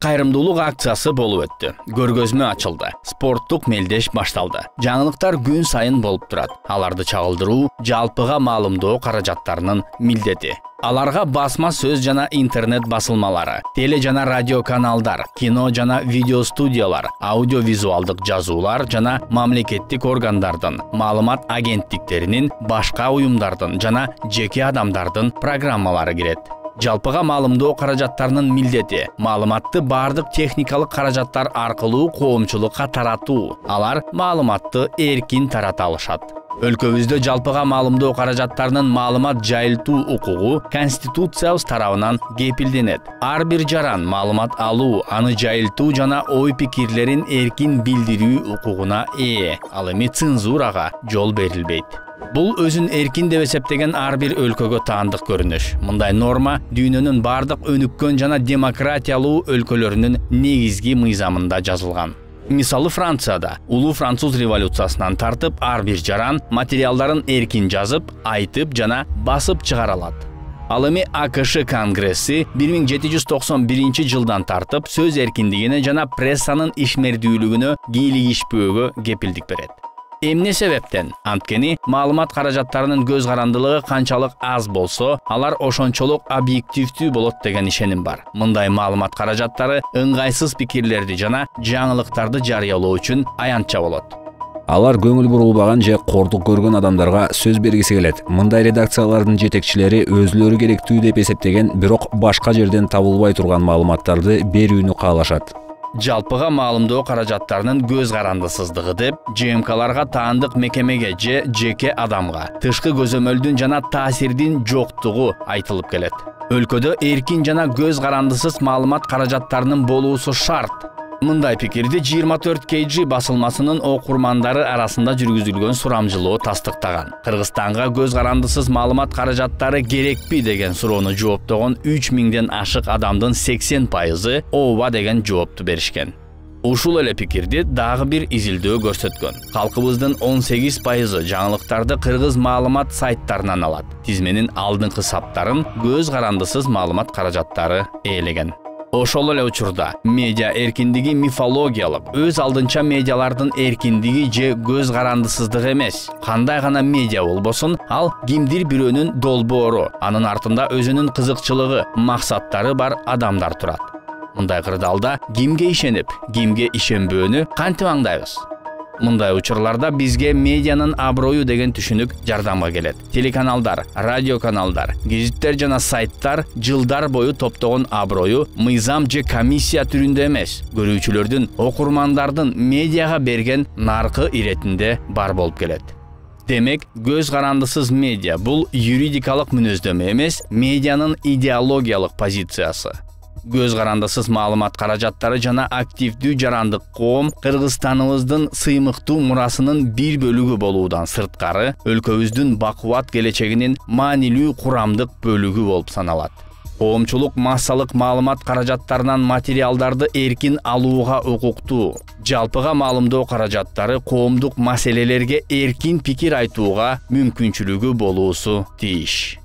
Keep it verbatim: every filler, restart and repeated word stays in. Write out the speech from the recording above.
Кайрымдуулук акциясы болуп өттү. Көргөзмө ачылды. Спорттук мелдеш башталды. Жаңылыктар күн сайын болуп турат. Аларды чагылдыруу жалпыга маалымдоо каражаттарынын милдети. Аларга басма сөз жана интернет басылмалары, теле жана радио каналдар, кино жана видео студиялар, аудиовизуалдык жазуулар жана мамлекеттик органдардын, маалымат агенттиктеринин, башка уюмдардын жана жеке адамдардын программалары кирет. Жалпыга маалымдоо каражаттарынын милдети маалыматты бардык техникалык каражаттар аркылуу коомчулукка таратуу. Алар маалыматты эркин тарата алышат. Өлкөбүздө жалпыга маалымдоо каражаттарынын маалымат жайылтуу укугу Конституциябыз тарабынан кепилденет. Ар бир жаран маалымат алуу, аны жайылтуу жана ой пикирлерин эркин билдирүү укугуна ээ. Ал эми цензурага жол берилбейт. Бул өзүн эркин деп эсептеген ар бир өлкөгө таандык көрүнүш. Мындай норма дүйнөнүн бардык өнүккөн жана демократиялуу өлкөлөрүнүн негизги мыйзамында жазылган. Мисалы Францияда улуу француз революциясынан тартып ар бир жаран материалдарын эркин жазып, айтып жана басып чыгара алат. Ал эми АКШ Конгресси бир миң жети жүз токсон биринчи жылдан тартып сөз эркиндигине жана прессанын ишмердүүлүгүнө кийлигишпөөгө кепилдик берет. Эмне себептен? Анткени маалымат каражаттарынын көз карандылыгы канчалык аз болсо, алар ошончолук объективдүү болот деген ишеним бар. Мындай маалымат каражаттары ыңгайсыз пикирлерди жана жаңылыктарды жарыялоо үчүн аянтча болот. Алар көңүл бурулбаган же кордук көргөн адамдарга сөз бергиси келет. Мындай редакциялардын жетекчилери өзүлөрү керектүү деп эсептеген, бирок башка жерден табылбай турган маалыматтарды берүүнү каалашат. Жалпыга маалымдоо каражаттарынын көз карандысыздыгы деп ЖМКларга таандык мекемеге же жеке адамга тышкы көзөмөлдүн жана таасирдин жоктугу айтылып келет. Өлкөдө эркин жана көз карандысыз маалымат каражаттарынын болуусу шарт. Мындай пикирди жыйырма төрт кей джи басылмасынын окурмандары арасында жүргүзүлгөн сурамжылоо тастыктаган. Кыргызстанга көз карандысыз маалымат каражаттары керекпи деген суроону жооптогон үч миңден ашык адамдын сексен пайызы ооба деген жоопту беришкен. Ушул эле пикирди дагы бир изилдөө көрсөткөн. Калкыбыздын он сегиз пайызы жаңылыктарды кыргыз маалымат сайттарынан алат. Тизменин алдыңкы саптарын көз карандысыз маалымат каражаттары ээлеген. Ошол эле учурда медиа эркиндиги мифологиялык, өз алдынча медиалардын эркиндиги же көз карандысыздыгы эмес. Кандай гана медиа болбосун, ал кимдир бирөөнүн долбоору, анын артында өзүнүн кызыкчылыгы, максаттары бар адамдар турат. Мындай кырдаалда кимге ишенип, кимге ишенбөөнү кантип аңдайбыз? Мындай учурларда бизге медианын аброю деген түшүнүк жардамга келет. Телеканалдар, радиоканалдар, гезиттер жана сайттар жылдар бою топтогон аброю мыйзам же комиссия түрүндө эмес, көрүүчүлөрдүн, окурмандардын медиага берген наркы иретинде бар болуп келет. Демек, көз карандысыз медиа бул юридикалык мүнөздөмө эмес, медианын идеологиялык позициясы. Көз карандысыз маалымат каражаттары жана активдүү жарандык коом Кыргызстаныбыздын сыймыктуу мурасынын бир бөлүгү болуудан сырткары, өлкөбүздүн бакубат келечегинин маанилүү курамдык бөлүгү болуп саналат. Коомчулук массалык маалымат каражаттарынан материалдарды эркин алууга укуктуу. Жалпыга маалымдоо каражаттары коомдук маселелерге эркин пикир айтууга мүмкүнчүлүгү болуусу тийиш.